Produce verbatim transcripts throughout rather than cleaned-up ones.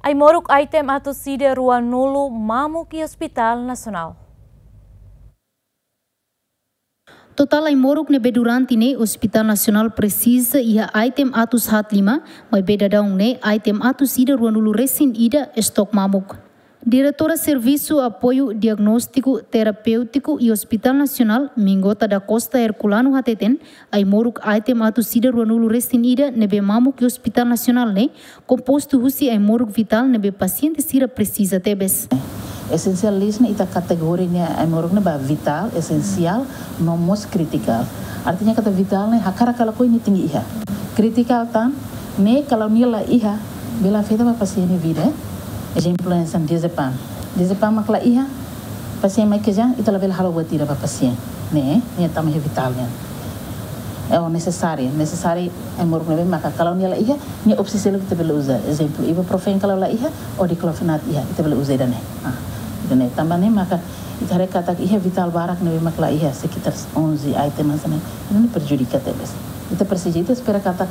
Ai-moruk item atus ida ruanulu mamuk iha Hospital Nasionál. Totál ai-moruk ne'ebé durante ne'e Hospital Nasionál presiza iha item atus haat lima, maibé daudaun ne'e item atus ida ruanulu resin ida estok mamuk. Diretora Servisu Apoiu Diagnóstiku Terapéutiku iha Hospital Nasionál, Mingota da Costa Herculano hateten, ai-moruk item atus ida ruanulu resin ida ne'ebé mamuk iha Hospital Nasionál ne'e kompostu husi ai-moruk vitál ne'ebé pasiente sira presiza tebes. Essential list ne'e ita kategoria nia ai-moruk ne'e ba vitál, esensiál, no mós kritikál. Artinya katak vitál ne'e hakarak ka lakohi nia tenke iha. Kritikál tan, ne'e kalau nia la iha, bele afeta ba pasiente nia vida, eh. Ezemplu hanesan diazepam. Diazepam mak la iha, pasiente mai kejang, ita labele halo buat ida ba pasiente. Ne'e, nia tama iha vitál nian. É o nesesáriu, nesesáriu ai-moruk ne'ebé maka kalau nia la iha, nia opsi seluk ita bele uza. Ezemplu, ibuprofen kalau la iha, o diclofenac iha, ita bele uza ida-ne'e. Ah, ida-ne'e tanba ne'e maka ita haree katak iha vitál barak ne'ebé mak la iha, sekitar onze item hanesan ne'e. Ida-ne'e prejudika tebes. Ita presiza, ita espera katak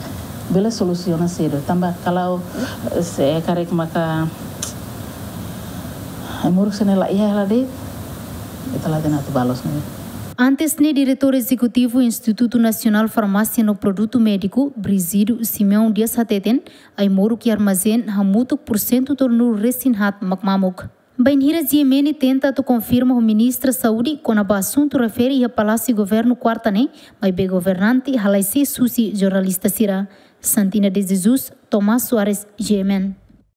bele solusiona sedu. Tanba kalau, eh, se karik maka ai-moruk sira-ne'e la iha hela de'it, ita la hatene atu bá loos ne'e. Antes ne'e, Diretór Ezekutivu Institutu Nasionál Farmásia no Produtu Médiku, Brígido Simeão Dias hateten, ai-moruk iha armazén hamutuk pursentu tolunulu resin haat mak mamuk. Bainhira G M N tenta atu konfirma ho Ministra Saúde kona-ba asuntu refere iha Palásiu Governu kuarta ne'e, maibé governante halai sees husi jornalista sira. Santina de Jesus, Tomás Soares, G M N.